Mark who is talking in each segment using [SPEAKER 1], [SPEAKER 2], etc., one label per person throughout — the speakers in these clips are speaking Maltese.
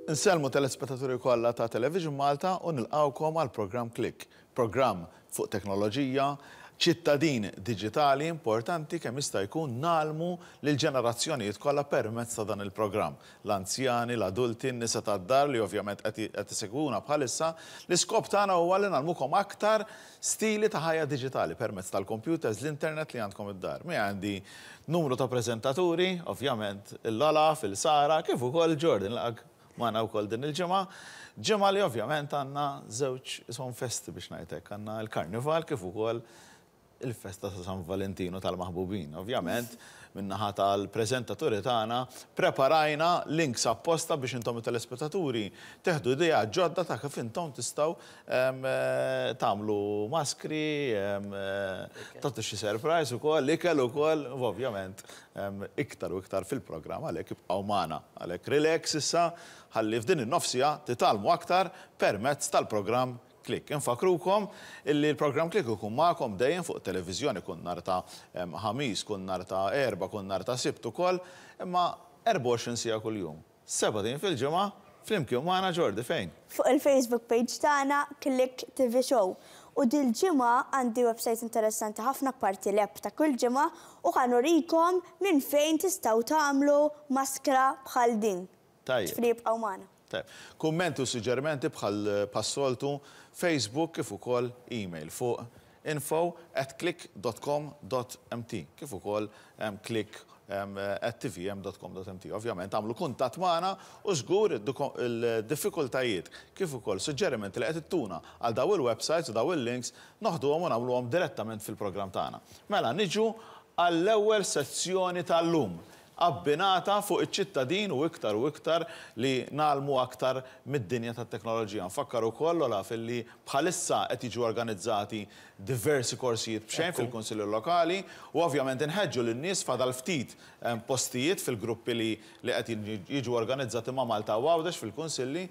[SPEAKER 1] Insellmu telespettaturi kollha ta' Television Malta u nilqgħukom għal programm Click, programm fuq teknoloġija, ċittadin diġitali importanti kemm jista' jkun ngħallmu lill-ġenerazzjonijiet kollha permezz ta' dan il-programm. L-anzjani, l-adulti, n-nisa tad-dar li ovvjament qed qed isegwuna bħalissa, l-iskop tagħna huwa li ngħallmukom aktar stili ta' ħajja diġitali permezz tal-computers, l-internet li għandkom id-dar. Miegħi għandi numru ta' preżentaturi, ovvjament il-Olaf, il-Sara, kif ukoll Jordan laqak magħna wkoll din il-ġimgħa. Ġimgħa li ovvjament għandna żewġ ishom festi biex ngħid hekk, għandna l-Karnival kif ukoll il-festa ta' San Valentinu tal-maħbubin. Ovvjament, min-naħa tal-preżentaturi tagħna preparajna links apposta biex intom it-telespettaturi teħdu idea ġodda ta' kif intom tistgħu tagħmlu maskri, tagħtu xi surprise ukoll, ikel ukoll, u ovvjament iktar u iktar fil-programm għalhekk ibqgħu magħna. Għalhekk relax issa ħalli f'din in-nofs siegħa titgħallmu aktar permezz tal-programm Click. Infakkrukom illi l-programm Click ikun magħkom dejjem fuq televiżjoni kull nhar ta' Ħamis, kull nhar ta' Erbgħa, kull nhar ta' Sibt ukoll, imma 24 siegħa kuljum, 7 ijiem fil-ġimgħa, flimkien magħna Jordi fejn?
[SPEAKER 2] Fuq il-Facebook page tagħna Click TV Show. U dil-ġimgħa għandi website interessanti ħafna parti l-app ta' kull ġimgħa u ħa nurikom minn fejn tistgħu tagħmlu maskra bħal din.
[SPEAKER 1] Tajjeb.
[SPEAKER 2] Ġifieri ibqgħu magħna.
[SPEAKER 1] Tajjeb. Kummenti u suġġerimenti bħal bħas-soltu Facebook kif ukoll email fuq info@click.com.mt kif ukoll click@tvm.com.mt. Ovvjament agħmlu kuntatt magħna u żgur il-diffikultajiet kif ukoll suġġerimenti li qed ittuna għal daw il-websites u daw il-links noħduhom u nagħmluhom direttament fil-programm tagħna. Mela niġu għall-ewwel sezzjoni tal-lum abbinata fuq iċ-ċittadin u iktar u iktar li ngħallmu aktar mid-dinja tat-teknoloġija. Nfakkar ukoll, Olaf, illi bħalissa qed jiġu organizzati diversi korsijiet b'xejn fil-Kunsilli Lokali u ovvjament inħeġġu lin-nies fadal ftit postijiet fil-gruppi li li qed jiġu organizzati ma' Malta u Għawdex fil-Kunsilli.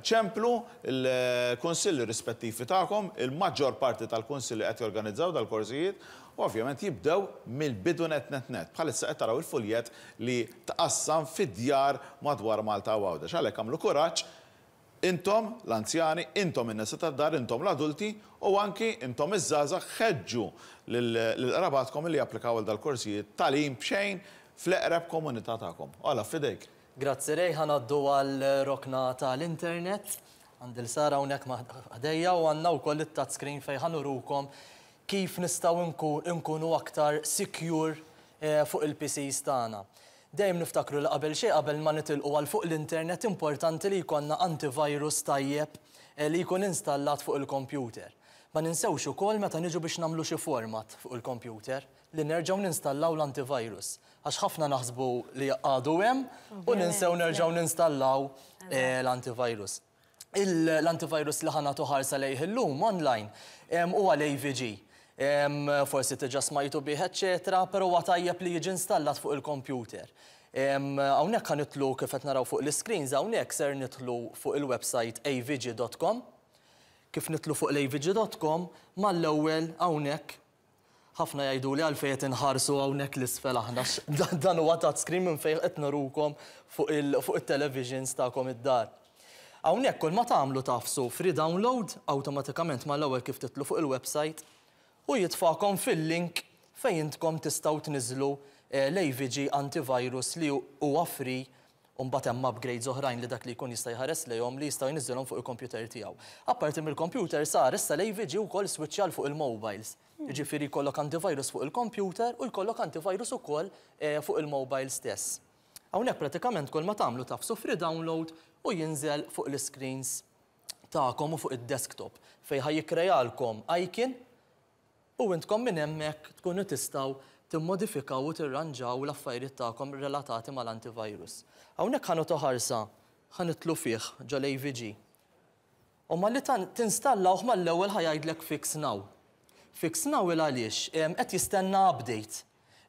[SPEAKER 1] Ċemplu l-Kunsilli rispettivi tagħkom, il-maġġor parti tal-Kunsilli qed jorganizzaw dal-korsijiet u ovvjament jibdew mill-bidu nett nett nett. Bħalissa qed taraw il-fuljett li tqassam fid-djar madwar Malta u Għawdex. Għalhekk agħmlu kuraġġ, intom l-anzjani, intom in-nisa tad-dar, intom l-adulti u anki intom iż-żgħażagħ ħeġġu lil qrabatkom li japplikaw għal dal-korsijiet tagħlim b'xejn fl-eqreb komunità tagħkom. Olaf, f'idejk.
[SPEAKER 3] Grazzi Ray, ħa ngħaddu għal rokna tal-internet. Għandi 'l Sara hawnhekk ħdejja u għandna wkoll it-touchscreen fejn ħa nurukom kif nistgħu nkunu aktar secure fuq il-PCs tagħna. Dejjem niftakru li qabel xejn qabel ma nitilqu għal fuq l-internet importanti li jkollna antivirus tajjeb li jkun installat fuq il-computer. Ma ninsewx ukoll meta niġu biex nagħmlu xi format fuq il-computer li nerġgħu ninstallaw l-antivirus. Għax ħafna naħsbu li għadu hemm u ninsew nerġgħu ninstallaw l-antivirus. L-antivirus li ħa nagħtu ħarsa lejh illum online huwa l-AVG. Forsi diġà smajtu bih, eċċetera, però huwa tajjeb li jiġi installat fuq il-computer. Hawnhekk ħa nidħlu kif qed naraw fuq l-screens hawnhekk ser nidħlu fuq il-website avg.com. Kif nidħlu fuq l-avg.com mal-ewwel hawnhekk ħafna jgħidu li għalfejn qed inħarsu hawnhekk l-isfel aħna dan huwa touchscreen minn fejn qed nurukom fuq il-televisions tagħkom id-dar. Hawnhekk kull ma tagħmlu tagħfsu free download awtomatikament mal-ewwel kif tidħlu fuq il-website u jitfakom fil-link fejn intkom tistgħu tniżlu l-AVG antivirus li huwa free u mbagħad hemm upgrades oħrajn li dak li jkun jista' jħares lejhom li jistgħu jniżżilhom fuq il-computer tiegħu. Apparti mill-computer sar issa l-AVG wkoll switch fuq il-mobiles. Jiġifieri jkollok antivirus fuq il-computer u jkollok antivirus ukoll fuq il-mobile stess. Hawnhekk pratikament kull ma tagħmlu tagħfsu free download u jinżel fuq l-screens tagħkom u fuq id-desktop fejn ħa jikkrealkom icon u intkom minn hemmhekk tkunu tistgħu timmodifikaw u tirranġaw l-affarijiet tagħkom relatati mal-antivirus. Hawnhekk ħa nagħtu ħarsa ħa nidħlu fih ġol-AVG. U malli tinstallawh mal-ewwel ħa jgħidlek fix now. Fix now il għaliex qed jistenna update.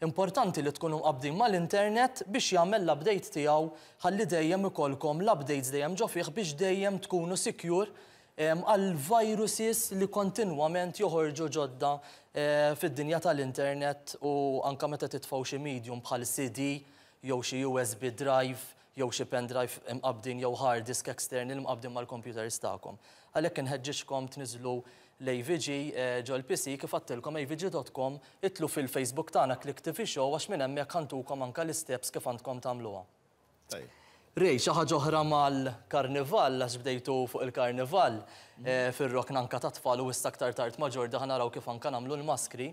[SPEAKER 3] Importanti li tkunu mqabbdin mal-internet biex jagħmel l-update tiegħu ħalli dejjem ikollkom l-updates dejjem ġo fih biex dejjem tkunu secure għal viruses li kontinwament joħorġu ġodda fid-dinja tal-internet u anka meta titfgħu xi medium bħal CD. jew xi USB drive jew xi pen drive imqabbdin jew hard disk external imqabbdin mal-computers tagħkom. Għalhekk inħeġġiġkom tniżżlu l-AVG ġol-PC kif għedtilkom avg.com itilgħu fil-Facebook tagħna Click TV Show għax minn hemmhekk ħa ntukom anke l-isteps kif għandkom tagħmluha. Ray, xi ħaġa oħra mal-karnival, għax bdejtu fuq il-karnival fir-rokna anka tat-tfal u issa aktar tard ma' Ġordi ħa naraw kif anka nagħmlu l-maskri.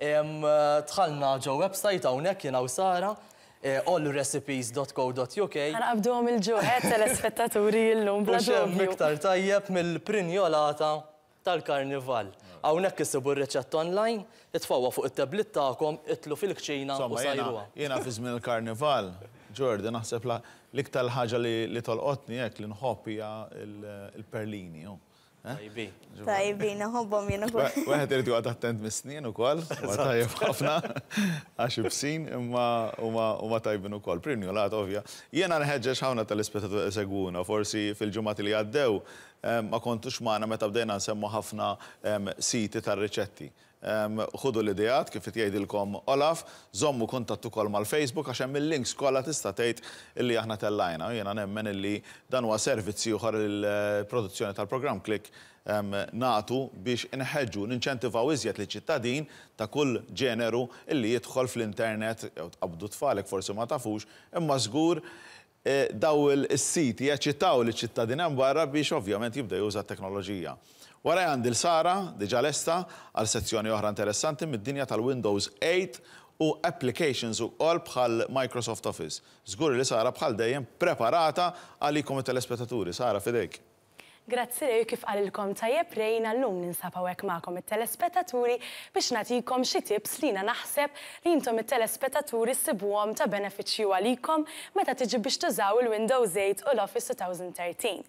[SPEAKER 3] Dħalna ġo website hawnhekk jiena u Sara, allrecipes.co.uk.
[SPEAKER 4] Ħa naqbduhom il-ġuħ, telespettaturi illum bla
[SPEAKER 3] U x'hemm
[SPEAKER 4] dubju.
[SPEAKER 3] iktar tajjeb mill-prinjolata tal-karnival. Hawnhekk issibu r-riċetta online, itfgħuha fuq it-tablet tagħkom, itilgħu fil-kċina u
[SPEAKER 1] Insomma, jiena
[SPEAKER 3] sajruha.
[SPEAKER 1] jiena fi żmien il-karnival, Ġordi, naħseb l-iktar ħaġa li tolqotni hekk li nħobb hija il-perlini. Oh. Eh?
[SPEAKER 3] Tajbi.
[SPEAKER 2] Tajbin, nħobbhom jien ukoll.
[SPEAKER 1] Wieħed irid joqgħod attent mis-snien ukoll, huwa tajjeb ħafna għax ibsin imma huma tajbin ukoll. Prinjolat ovvja. Jiena nħeġġeġ ħafna tal-ispettaturi segwuna, forsi fil-ġimgħat li għaddew ma kontux magħna meta bdejna nsemmu ħafna siti tar-riċetti. Ħudu l-ideat kif qed jgħidilkom Olaf, żommu kuntatt ukoll mal-Facebook għax hemm il-links kollha tista' tgħid illi aħna tellajna. Jiena nemmen illi dan huwa servizz ieħor il-produzzjoni tal-programm Click nagħtu biex inħeġġu, ninċentivaw iżjed li ċittadin ta' kull ġeneru illi jidħol fl-internet jew tqabdu tfalek forsi ma tafux, imma żgur daw il-siti jaċċitaw li ċittadin hemm barra biex ovvjament jibda juża t-teknoloġija. Wara għandi l-Sara, diġà lesta, għal sezzjoni oħra interessanti mid-dinja tal-Windows 8 u applications ukoll bħal Microsoft Office. Żgur li Sara bħal dejjem preparata għalikom it-telespettaturi. Sara, f'idejk.
[SPEAKER 4] Grazzi Ray, kif qalilkom tajjeb Ray, llum ninsab hawnhekk magħkom it-telespettaturi biex nagħtikom xi tips li jiena naħseb li intom it-telespettaturi ssibuhom ta' benefiċċju għalikom meta tiġi biex tużaw il-Windows 8 u l-Office 2013.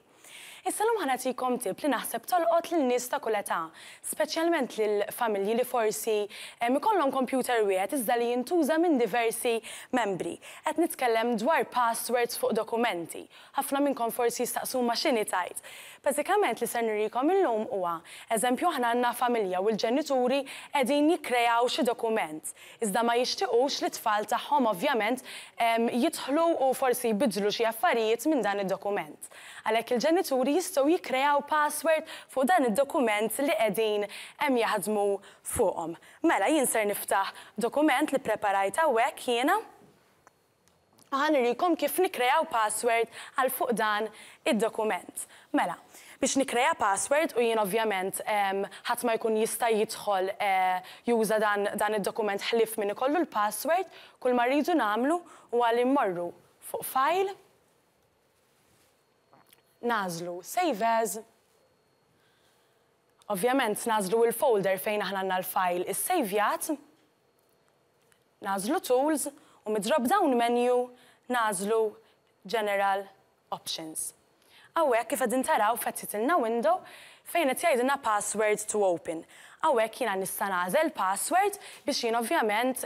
[SPEAKER 4] Issa llum ħa nagħtikom tip li naħseb tolqot lil nies ta' kull età, speċjalment lil familji li forsi ikollhom computer wieħed iżda li jintuża minn diversi membri. Qed nitkellem dwar passwords fuq dokumenti. Ħafna minnkom forsi jistaqsu ma x'inhi tajt. Bażikament li ser nurikom illum huwa, eżempju aħna għandna familja u l-ġenituri qegħdin jikkreaw xi dokument. Iżda ma jixtiequx li tfal tagħhom ovvjament jidħlu u forsi jbidlu xi affarijiet minn dan id-dokument. Għalhekk il-ġenituri jistgħu jikkreaw password fuq dan id-dokument li qegħdin hemm jaħdmu fuqhom. Mela jien ser niftaħ dokument li preparajt hawnhekk jiena. Ħa nurikom kif nikreaw password għal fuq dan id-dokument. Mela, biex nikreja password u jien ovvjament ħadd ma jkun jista' jidħol juża dan id-dokument ħlief min ikollu l-password, kull ma rridu nagħmlu huwa li mmorru fuq File, nagħżlu Save As, ovvjament nagħżlu il-folder fejn aħna għandna l-file is-sejvjat, nagħżlu Tools u mid-drop down menu nagħżlu General Options. Hawnhekk kif qegħdin taraw fetħitilna window fejn qed jgħidilna password to open. Hawnhekk jiena nista' nagħżel password biex jien ovvjament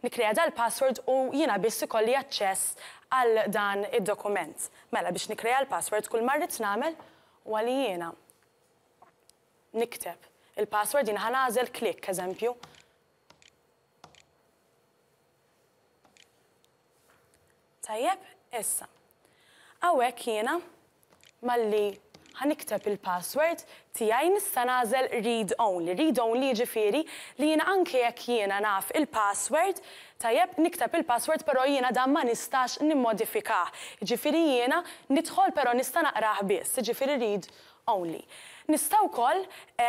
[SPEAKER 4] nikkrea dal-password u jiena biss ikolli aċċess għal dan id-dokument. Mela biex nikkrea l-password kull ma rrid nagħmel huwa li jiena nikteb il-password jiena ħa nagħżel click eżempju. Tajjeb, issa. Hawnhekk jiena malli ħa nikteb il-password tiegħi nista' nagħżel read only. Read only jiġifieri li jiena anke jekk jiena naf il-password, tajjeb nikteb il-password però jiena dan ma nistax nimmodifikah. Jiġifieri jiena nidħol però nista' naqrah biss, jiġifieri read only. Nista' wkoll,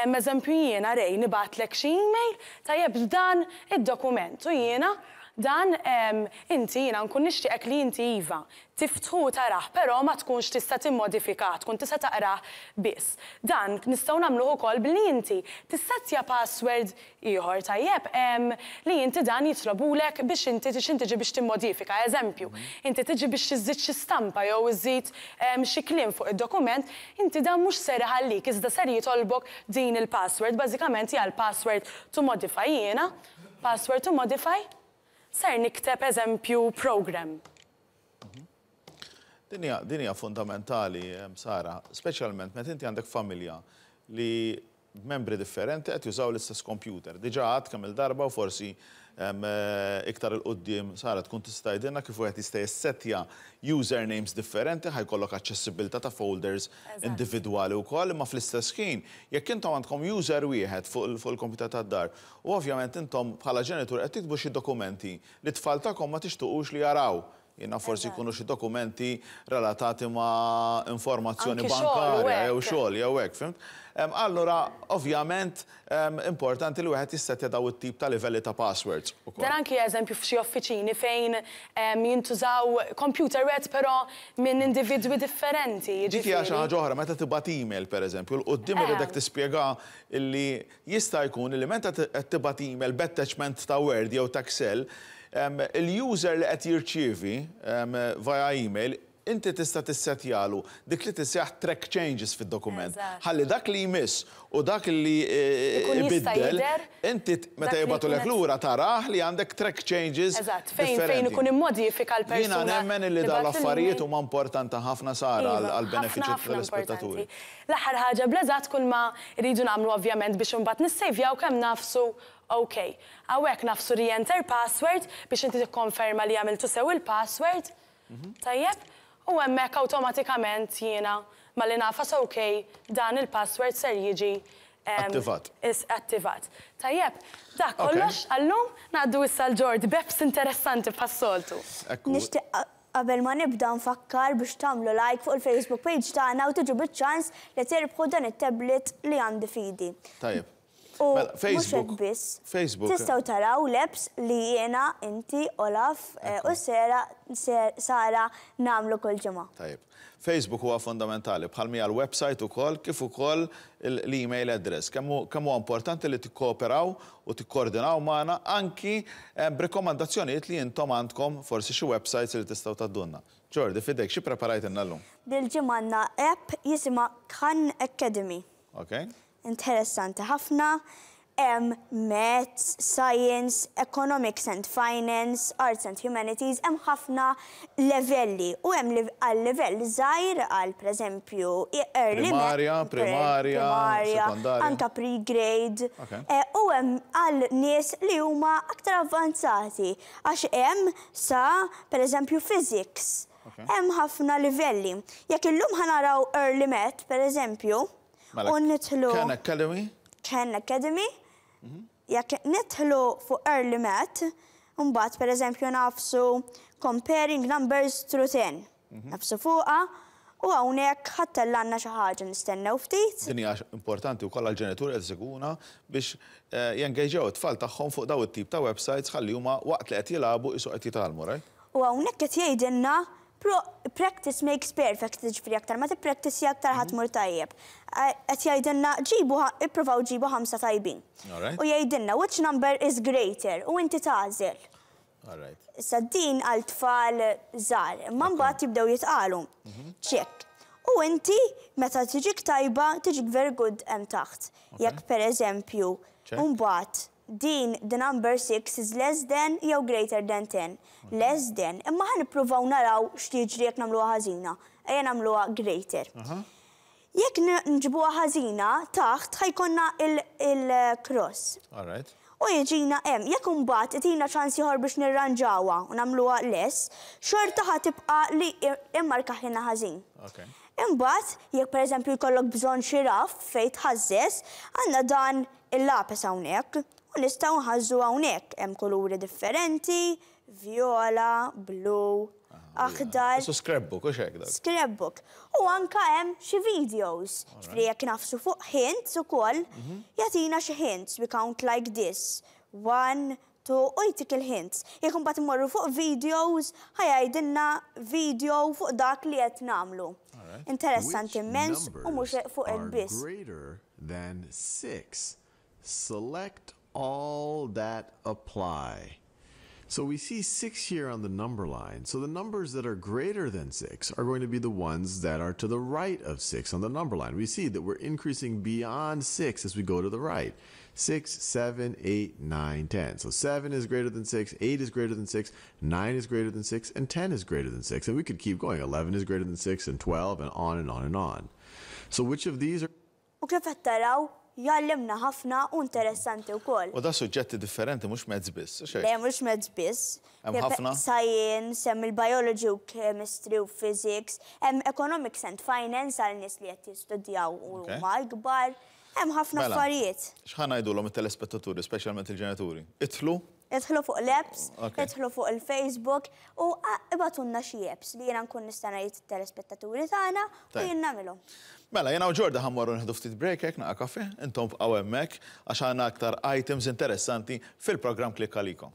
[SPEAKER 4] eżempju jiena Ray nibgħatlek xi email, tajjeb dan id-dokument u jiena dan inti jiena nkun nixtieqek li inti iva tiftħu tarah, però ma tkunx tista' timmodifika, tkun tista' taqrah biss. Dan nistgħu nagħmluh ukoll billi inti tissettja password ieħor tajjeb li inti dan jitlobulek biex inti tiġi biex timmodifika. Eżempju, inti tiġi biex iżżid xi stampa jew iżżid xi kliem fuq id-dokument, inti dan mhux ser iħallik, iżda ser jitolbok din il-password. Bażikament hija l-password to modify jiena, password to modify, ser nikteb eżempju program.
[SPEAKER 1] Din hija fundamentali, Sara, speċjalment meta inti għandek familja li Membri differenti qed jużaw l-istess kompjuter. Diġà għedt kemm-il darba u forsi iktar 'il quddiem Sara tkun tista' tgħidilna kif wieħed jista' jissettja usernames differenti ħa jkollok aċċessibilità ta' folders individwali wkoll imma fl-istess ħin jekk intom għandkom user wieħed fuq il-kompjuter tad-dar u ovvjament intom bħala ġenitur qed tiktbu xi dokumenti li t-tfal tagħkom ma tixtuqux li jaraw. Jiena forsi jkunu xi dokumenti relatati ma' informazzjoni bankarja jew xogħol jew hekk, fhimt? Allura, ovvjament, importanti li wieħed jissettja daw it-tip ta' livelli ta' passwords ukoll.
[SPEAKER 4] Dan anki eżempju f'xi uffiċini fejn jintużaw computer wieħed però minn individwi differenti, jiġifieri.
[SPEAKER 1] Dik hija xi ħaġa oħra, meta tibgħat email, pereżempju, 'l quddiem iridek tispjega li Jista' jkun li meta qed tibgħat email b'attachment ta' Word jew ta' Excel, il-user li qed jirċievi via email, inti tista' tissettjalu dik li tisseħħ track changes fid-dokument. Ħalli dak li jmiss u dak li ibiddel, inti meta jibgħatulek lura tarah li għandek track changes differenti. Jiena nemmen li dawn l-affarijiet huma importanti ħafna Sara għall-benefiċċju tat-telespettaturi.
[SPEAKER 4] L-aħħar ħaġa bl-eżatt kull ma rridu nagħmlu ovvjament biex imbagħad nissejvjaw kemm nagħfsu OK. Hawnhekk nagħfsu re-enter password biex inti tikkonferma li għamiltu sew il-password. Tajjeb? U hemmhekk awtomatikament jiena malli nagħfas OK dan il-password ser jiġi
[SPEAKER 1] Attivat.
[SPEAKER 4] Attivat. Tajjeb, dak kollox għal-lum, ngħaddu issa għal Ġordi b'apps interessanti bħas-soltu.
[SPEAKER 1] Ekku.
[SPEAKER 2] Nixtieq Qabel ma nibda nfakkar biex tagħmlu like fuq il-Facebook page tagħna u tiġu biċ-ċans li tirbħu dan it-tablet li għandi f'idi.
[SPEAKER 1] Tajjeb.
[SPEAKER 2] U
[SPEAKER 1] Mela,
[SPEAKER 2] mhux hekk
[SPEAKER 1] Facebook.
[SPEAKER 2] biss.
[SPEAKER 1] Facebook.
[SPEAKER 2] Tistgħu taraw l-apps li jiena, inti, Olaf u Sera, Sara nagħmlu kull ġimgħa.
[SPEAKER 1] Tajjeb. Facebook huwa fundamentali, bħal mija l-website ukoll, kif ukoll l-email address. Kemm huwa importanti li tikkooperaw u tikkoordinaw magħna anki b'rikkomandazzjonijiet li intom għandkom forsi xi websites li tistgħu tgħaddulna. Jordi, f'idejk, xi ppreparajtilna llum?
[SPEAKER 2] Dil-ġimgħa għandna app jisimha Khan Academy.
[SPEAKER 1] Ok.
[SPEAKER 2] Interessanti ħafna. Hemm Maths, Science, Economics and Finance, Arts and Humanities, hemm ħafna levelli u hemm għal livell żgħir għal pereżempju early
[SPEAKER 1] Primarja, primarja, sekondarja.
[SPEAKER 2] Anka pre-grade. U hemm għal nies li huma aktar avvanzati għax hemm sa pereżempju physics. Hemm ħafna livelli. Jekk illum ħa naraw early math pereżempju,
[SPEAKER 1] Mela,
[SPEAKER 2] u nidħlu
[SPEAKER 1] Khan Academy?
[SPEAKER 2] Khan Academy, jekk nidħlu fuq early math, mbagħad pereżempju nagħfsu comparing numbers through 10. Nagħfsu fuqha u hawnhekk ħa ttellgħalna xi ħaġa nistennew ftit.
[SPEAKER 1] Din hija importanti wkoll għall-ġenituri qed isegwuna biex jengaġġjaw it-tfal tagħhom fuq dawn it-tip ta' websites ħalli huma waqt li qed jilagħbu qisu qed jitgħallmu, right?
[SPEAKER 2] U hawnhekk qed jgħidilna Pro, practice makes perfect, jiġifieri aktar ma tippraktissja aktar ħa tmur tajjeb. Qed jgħidilna ġibu, ippruvaw ġibu ħamsa tajbin. U jgħidilna which number is greater u inti tagħżel. Issa din għal tfal żgħar, imma mbagħad jibdew jitqalu. Check. U inti meta tiġik tajba tiġik very good hemm taħt. Jekk pereżempju mbagħad Din the number 6 is less than jew greater than 10. Less than. Imma ħa nippruvaw naraw x'tiġri jekk nagħmluha ħażina. Ejja nagħmluha greater. Jekk nġibuha ħażina, taħt ħa jkollna il-cross. U jiġina hemm. Jekk imbagħad itina ċans ieħor biex nirranġawha u nagħmluha less, xorta ħa tibqa' li immarkaħilna ħażin. Imbagħad, jekk pereżempju jkollok bżonn xi raff fejn tħażżeż, għandna dan il-lapes hawnhekk u nistgħu nħażżu hawnhekk. Hemm kuluri differenti, vjola, blu, aħdar.
[SPEAKER 1] Isu scrapbook, hux hekk dak?
[SPEAKER 2] Scrapbook. U anke hemm xi videos. Ġifieri jekk nagħfsu fuq hints ukoll, jagħtina xi hints. We count like this. One, two, u jtik il-hints. Jekk imbagħad immorru fuq videos, ħa jgħidilna video fuq dak li qed nagħmlu. Interessanti immens u mhux fuq hekk biss.
[SPEAKER 5] Greater than 6. Select all that apply. So we see 6 here on the number line. So the numbers that are greater than 6 are going to be the ones that are to the right of 6 on the number line. We see that we're increasing beyond 6 as we go to the right. 6, 7, 8, 9, 10. So 7 is greater than 6, 8 is greater than 6, 9 is greater than 6, and 10 is greater than 6. And we could keep going. 11 is greater than 6, and 12, and on and on and on. So which of these are
[SPEAKER 2] U kif qed taraw, Jgħallimna ħafna u interessanti wkoll.
[SPEAKER 1] U da suġġetti differenti mhux maths biss, hux hekk?
[SPEAKER 2] Le, mhux maths biss.
[SPEAKER 1] Hemm ħafna?
[SPEAKER 2] Science, hemm il-biology u chemistry u physics, hemm economics and finance għal nies li qed jistudjaw u huma ikbar. Hemm ħafna affarijiet.
[SPEAKER 1] X'ħa ngħidulhom it-telespettaturi, speċjalment il-ġenituri? Idħlu?
[SPEAKER 2] Idħlu fuq l-apps, idħlu fuq il-Facebook u ibgħatulna xi apps li jiena nkun nista' ngħid it-telespettaturi tagħna u jien nagħmilhom.
[SPEAKER 1] Mela, jiena u Ġorda ħa mmorru nieħdu ftit break hekk naqa' kafè, intom bqgħu hemmhekk għax għandna aktar items interessanti fil-programm Klikk Għalikom.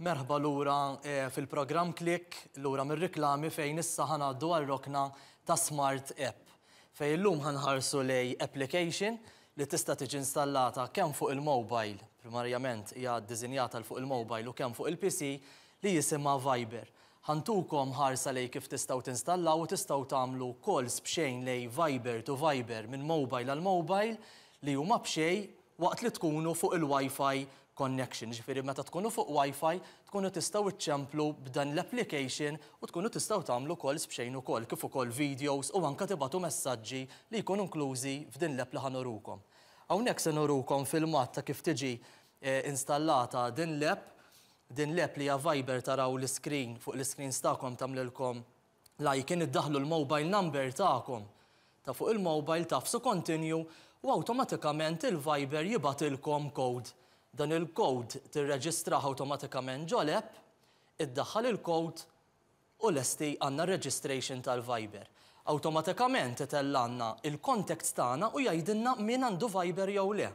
[SPEAKER 3] Merħba lura eh, fil-programm Klik, lura mir-riklami fejn issa ħanaddu għal-rokna ta' Smart App. Fejn illum ħanħarsu lej application li tista' tiġi installata kemm fuq il-mobile, primarjament hija ddisinjata għal fuq il-mobile u kemm fuq il-PC, li jisimha Viber. Ħa ntukom ħarsa lejn kif tistgħu tinstallaw u tistgħu tagħmlu calls b'xejn lejn Viber to Viber minn mobile għal mobile li huma b'xejn waqt li tkunu fuq il-Wi-Fi connection. Jiġifieri meta tkunu fuq Wi-Fi tkunu tistgħu iċċemplu b'dan l-application u tkunu tistgħu tagħmlu calls b'xejn ukoll, kif ukoll videos u anke tibagħtu messaġġi li jkunu inklużi f'din l-app li ħa nurukom. Hawnhekk se nurukom filmat ta' kif tiġi installata din l-app. Din l-app li hija Viber taraw l-iscreen fuq l-iscreens tagħkom tagħmlilkom l-icon iddaħħlu l-mobile number tagħkom ta' fuq il-mobile tagħfsu continue u awtomatikament il-Viber jibgħatilkom code. Dan il-code tirreġistrah awtomatikament ġo l-app, iddaħħal il-code u lesti għandna r-registration tal-Viber. Awtomatikament itellgħalna il-contacts tagħna u jgħidilna min għandu Viber jew le.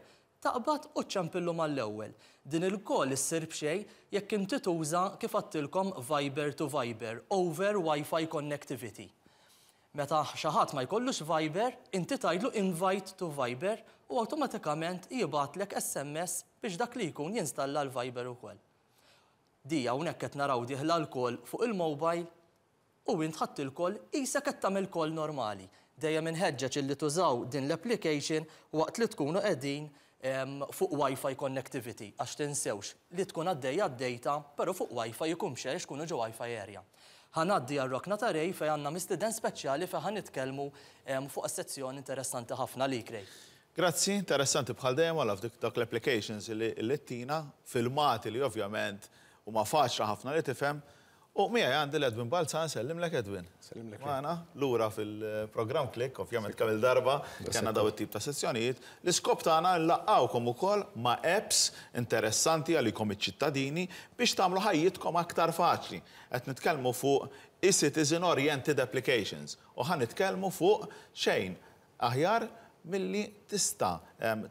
[SPEAKER 3] Taqbad u ċċempillu mal-ewwel. Din il-call issir b'xejn jekk inti tuża kif għadtilkom Viber to Viber over Wi-Fi connectivity. Meta xi ħadd ma jkollux Viber, inti tgħidlu invite to Viber u awtomatikament jibgħatlek SMS biex dak li jkun jinstalla l-Viber ukoll. Di hawnhekk qed naraw dieħla l-call fuq il-mobile u int ħadt il-call qisek qed tagħmel call normali. Dejjem inħeġġeġ illi tużaw din l-application waqt li tkunu qegħdin fuq Wi-Fi connectivity għax tinsewx li tkun għaddejja d-data però fuq Wi-Fi jkun b'xejn għax tkunu ġo Wi-Fi area. Ħa ngħaddi għar-rokna ta' Ray fejn għandna mistieden speċjali fejn ħa nitkellmu fuq sezzjoni interessanti ħafna għalik Ray.
[SPEAKER 1] Grazzi, interessanti bħal dejjem Olaf dik dawk l-applications li ttina, filmati li ovvjament huma faċli ħafna li tifhem. U miegħi għandi l-Edwin Balzan, sellimlek Edwin.
[SPEAKER 6] Sellimlek.
[SPEAKER 1] Magħna lura fil-programm Klikk, ovvjament kemm il-darba kellna daw it-tip ta' sessjonijiet. L-iskop tagħna nlaqqgħukom ukoll ma' apps interessanti għalikom iċ-ċittadini biex tagħmlu ħajjitkom aktar faċli. Qed nitkellmu fuq e-citizen oriented applications u ħa nitkellmu fuq xejn aħjar milli tista'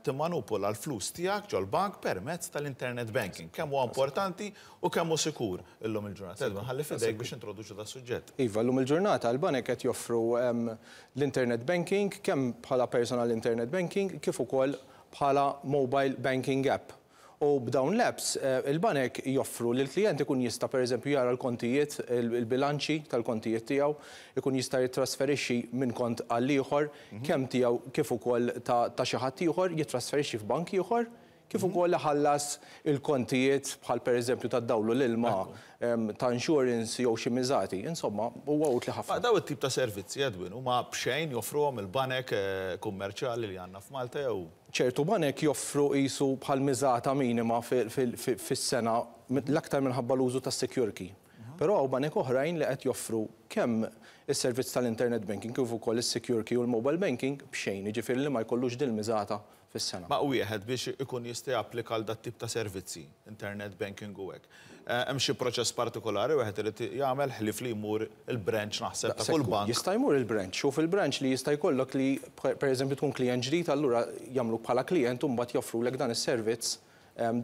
[SPEAKER 1] timmanupula l-flus tiegħek ġol-bank permezz tal-internet banking. Kemm huwa importanti u kemm hu sikur illum il-ġurnata. Edwin, ħalli f'idejk biex introduċu das-suġġett.
[SPEAKER 6] Iva, llum il-ġurnata l-banek qed joffru l-internet banking kemm bħala personal internet banking kif ukoll bħala mobile banking app. U b'dawn l-apps il-banek joffru li l-klijent ikun jista' pereżempju jara l-kontijiet, il-bilanċi tal-kontijiet tiegħu, ikun jista' jittrasferixxi minn kont għal ieħor, kemm tiegħu kif ukoll ta' xi ħadd ieħor, jittrasferixxi f'bank ieħor, kif ukoll iħallas il-kontijiet bħal pereżempju tad-dawl u l-ilma, ta' insurance jew xi miżati. Insomma, huwa utli ħafna.
[SPEAKER 1] Ma daw it-tip ta' servizzi, Edwin, huma b'xejn joffruhom il-banek kummerċjali li għandna f'Malta jew?
[SPEAKER 6] Ċertu banek joffru qisu bħal miżata minima fis-sena l-aktar minħabba l-użu tas-secure key. Però hawn banek oħrajn li qed joffru kemm is-servizz tal-internet banking kif ukoll is-secure key u l-mobile banking b'xejn, jiġifieri li ma jkollux dil-miżata fis-sena.
[SPEAKER 1] Ma wieħed biex ikun jista' japplika għal dat-tip ta' servizzi, internet banking u hekk, hemm xi proċess partikolari wieħed irid jagħmel ħlief li jmur il-branch naħseb ta' kull bank?
[SPEAKER 6] Jista' jmur il-branch u fil-branch li jista' jkollok li pereżempju tkun klijent ġdid allura jagħmluk bħala klijent u mbagħad joffrulek dan is-servizz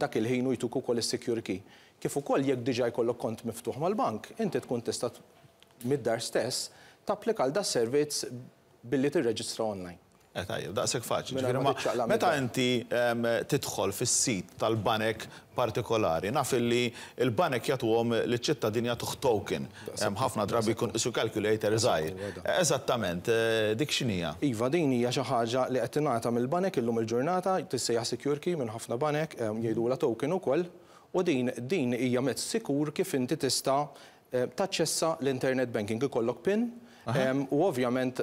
[SPEAKER 6] dak il-ħin u jtuk ukoll is-secure key. Kif ukoll jekk diġà jkollok kont miftuħ mal-bank, inti tkun tista' mid-dar stess tapplika għal das-servizz billi tirreġistra online.
[SPEAKER 1] Eh tajjeb, daqshekk faċli. Ġifieri ma meta inti tidħol fis-sit tal-banek partikolari, naf illi l-banek jagħtuhom liċ-ċittadin jagħtuh token. Ħafna drabi jkun qisu calculator żgħir. Eżattament, dik x'inhija?
[SPEAKER 6] Iva, din hija xi ħaġa li qed tingħata mill-banek illum il-ġurnata, tissejjaħ secure key minn ħafna banek, jgħidulha token ukoll, u din din hija mezz sikur kif inti tista' taċċessa l-internet banking, ikollok pin u ovvjament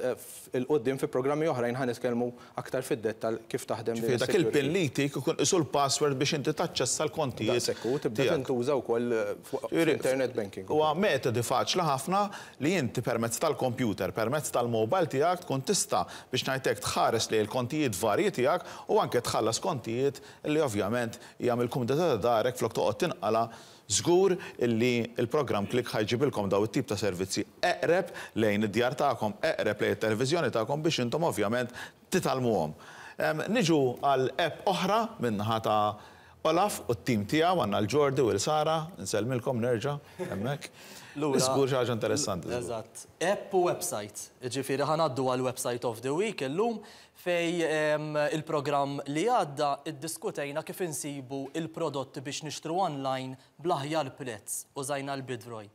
[SPEAKER 6] 'il quddiem fi programmi oħrajn ħa nitkellmu aktar fid-dettall kif taħdem din
[SPEAKER 1] Ġifieri dak il-pin li jtik ikun qisu l-password biex inti taċċessa l-kontijiet
[SPEAKER 6] Daqshekk u tibda tintuża wkoll fuq internet banking.
[SPEAKER 1] Huwa metodi faċli ħafna li inti permezz tal-kompjuter, permezz tal-mobile tiegħek tkun tista' biex ngħid hekk tħares lejn il-kontijiet varji tiegħek u anke tħallas kontijiet li ovvjament hija mill-kumdità ta' darek flok toqgħod tinqala' Żgur illi l-programm Click ħa jġibilkom dawn it-tip ta' servizzi eqreb lejn id-djar tagħkom, eqreb lejn it-televiżjoni tagħkom biex intom ovvjament titgħallmuhom. Niġu għal app oħra min-naħa ta' Olaf u t-tim tiegħu, għandna l-Jordi u l-Sara, insellmilkom nerġa' hemmhekk. Żgur xi ħaġa interessanti.
[SPEAKER 3] Eżatt. App u website. Jiġifieri ħa ngħaddu għall-website of the week illum Fejn il-programm li għadda iddiskutejna kif insibu il-prodotti biex nixtru online bl-aħjar prezz, użajna l-Bidroy.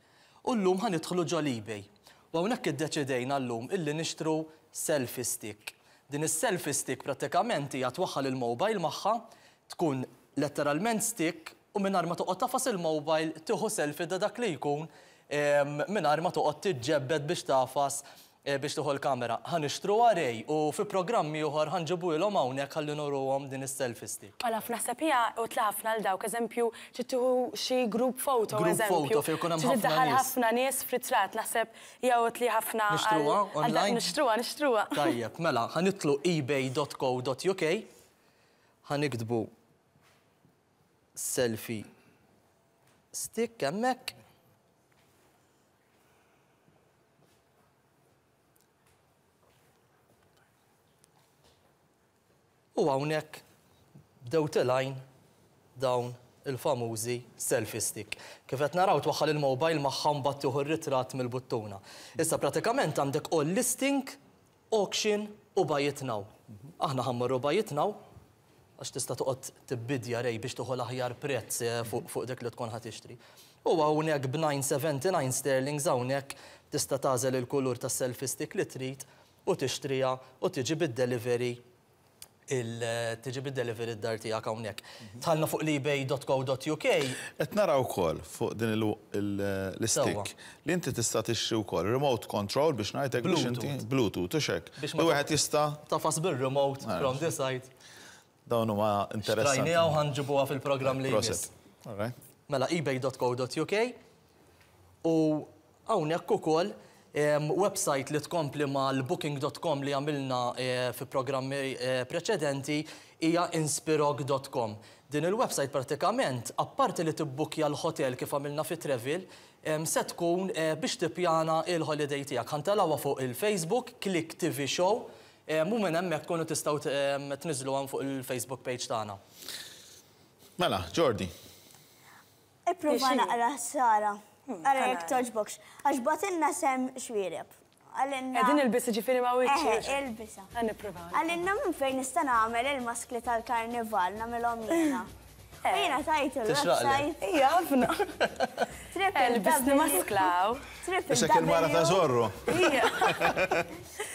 [SPEAKER 3] U llum ħa nidħlu ġo l-eBay. U hawnhekk iddeċidejna llum illi nixtru selfie stick. Din is-selfie stick prattikament hija twaħħal il-mobile magħha, tkun letteralment stick u mingħajr ma toqgħod tagħfas il-mobile tieħu selfie ta' dak li jkun mingħajr ma toqgħod tiġġebbed biex tagħfas biex tieħu l-kamera. Ħa nixtruha Ray u fi programm ieħor ħa nġibuhilhom hawnhekk ħalli nuruhom din is-selfie stick.
[SPEAKER 4] Olaf, naħseb hija utli ħafna għal dawk, eżempju, trid tieħu xi group photo,
[SPEAKER 3] Group
[SPEAKER 4] eżempju.
[SPEAKER 3] photo fejn ikun hemm
[SPEAKER 4] Trid
[SPEAKER 3] ħafna
[SPEAKER 4] iddaħħal
[SPEAKER 3] nies.
[SPEAKER 4] ħafna nies f'ritratt, naħseb hija utli ħafna għal
[SPEAKER 3] Nixtruha
[SPEAKER 4] għal dak.
[SPEAKER 3] online?
[SPEAKER 4] Nixtruha, nixtruha.
[SPEAKER 3] Tajjeb, mela, ħa nidħlu ebay.co.uk, ħa niktbu selfie stick hemmhekk. U hawnhekk bdew tilgħin dawn il-famużi selfie stick. Kif qed naraw twaħħal il-mobile magħha mbagħad tieħu r-ritratt mill-buttuna. Issa pratikament għandek all listing, auction u buy it now. Aħna ħa mmorru buy it now għax tista' toqgħod tibbidja Ray biex tieħu l-aħjar prezz fuq dik li tkun ħa tixtri. U hawnhekk b'979 sterlings hawnhekk tista' tagħżel il-kulur tas-selfie stick li trid u tixtriha u tiġi bid-delivery il tiġi bid-delivery d-dar tiegħek hawnhekk. Dħalna fuq l-ebay.co.uk.
[SPEAKER 1] Qed nara wkoll fuq din l-istick li inti tista' tixtri wkoll remote control biex ngħidlek biex inti Bluetooth u x'hekk.
[SPEAKER 3] Biex ma
[SPEAKER 1] wieħed jista'
[SPEAKER 3] tafas bir-remote from the side.
[SPEAKER 1] Dawn huma interessanti.
[SPEAKER 3] Xtrajniha u ħa nġibuha fil-programm li jmiss.
[SPEAKER 1] Proset. All right.
[SPEAKER 3] Mela ebay.co.uk u hawnhekk ukoll website li tkompli mal-booking.com li għamilna fi programmi preċedenti hija inspirog.com. Din il-website pratikament, apparti li tibbukkja l-hotel kif għamilna fi Travel, se tkun biex tippjana il-holiday tiegħek. Ħa ntelgħuha fuq il-Facebook, Click TV Show, u minn hemmhekk tkunu tistgħu tniżżluha fuq il-Facebook page tagħna.
[SPEAKER 1] Mela, Jordi.
[SPEAKER 2] Ipprova naqra Sara. Ara jekk togħġbokx. Għax bagħtilna Sam Xuereb. Qalilna.
[SPEAKER 4] Qegħdin ilbis jiġifieri ma' wiċċi.
[SPEAKER 2] Eħe, ilbisha.
[SPEAKER 4] Ħa nipprova.
[SPEAKER 2] Qalilna minn fejn nista' nagħmel il-maskli tal-karnival, nagħmilhom jiena. U jiena tajtu l-website.
[SPEAKER 4] Ija, ħafna. Lbisni maskla hawn.
[SPEAKER 1] Isek il-mara ta' Zorro.
[SPEAKER 4] Ija.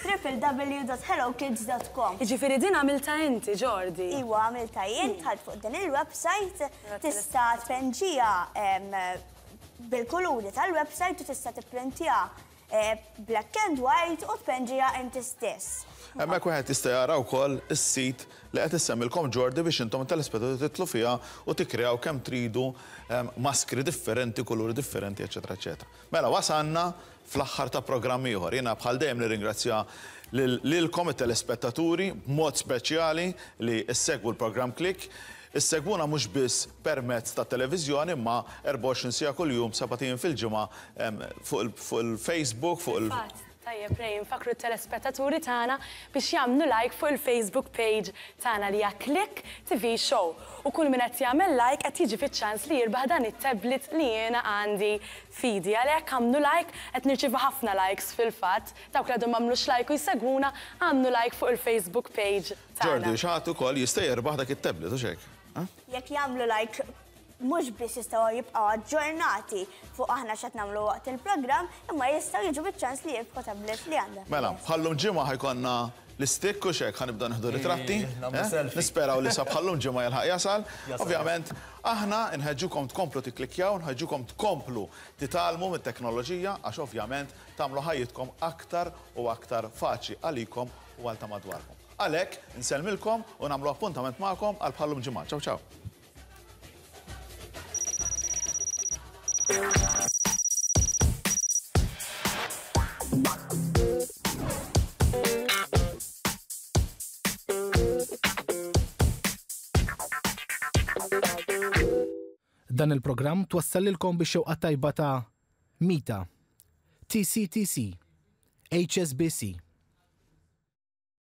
[SPEAKER 2] www.hellokids.com.
[SPEAKER 4] Jiġifieri din għamiltha inti, Jordi?
[SPEAKER 2] Iwa, għamiltha jien, dħalt fuq din il-website, tista' tpenġiha bil-kuluri tal-website u tista' tipprintjaha black and white u tpenġiha inti stess.
[SPEAKER 1] Hemmhekk wieħed jista' jara wkoll is-sit li qed issemmilkom Jordi biex intom it-telespettaturi tidħlu fiha u tikkreaw kemm tridu maskri differenti, kuluri differenti, eċċetera eċċetera. Mela wasalna fl-aħħar ta' programm ieħor. Jiena bħal dejjem nirringrazzja lilkom it-telespettaturi b'mod speċjali li ssegwu l-programm Click. Issegwuna mhux biss permezz tat-televiżjoni imma 24 siegħa kuljum, sebat ijiem fil-ġimgħa fuq il-Facebook, fuq il-.
[SPEAKER 4] Fil-fatt. Tajjeb Ray, infakkru t-telespettaturi tagħna biex jagħmlu like fuq il-Facebook page tagħna li hija Click TV Show. U kull min qed jagħmel like qed jiġi fiċ-ċans li jirbaħ dan it-tablet li jiena għandi f'idi. Għalhekk agħmlu like, qed nirċievu ħafna likes fil-fatt. Dawk li għadhom m'għamlux like u jsegwuna, agħmlu like fuq il-Facebook page tagħna.
[SPEAKER 1] Jordi, xi ħadd ukoll jista' jirbaħ dak it-tablet, hux hekk?
[SPEAKER 2] Jekk jagħmlu like mhux biss jistgħu jibqgħu aġġornati fuq aħna x'qed nagħmlu waqt il-programm, imma jistgħu jiġu biċ-ċans li jirbħu tablet li għandha.
[SPEAKER 1] Mela, bħallum ġimgħa ħa jkollna l-istikk u x'hekk ħa nibdew nieħdu ritratti. Nisperaw li sa bħallum ġimgħa jilħaq jasal. Ovvjament, aħna nħeġġukom tkomplu tikklikkjaw, nħeġġukom tkomplu titgħallmu mit-teknoloġija għax ovvjament tagħmlu ħajjitkom aktar u aktar faċli għalikom u għal ta' madwarkom. Għalhekk, insellmilkom u nagħmlu appuntament magħkom għal bħallum ġimgħa. Ciao ciao.
[SPEAKER 7] Dan il-programm twassallilkom bix-xewqa tajba ta' Mita, TCTC, HSBC.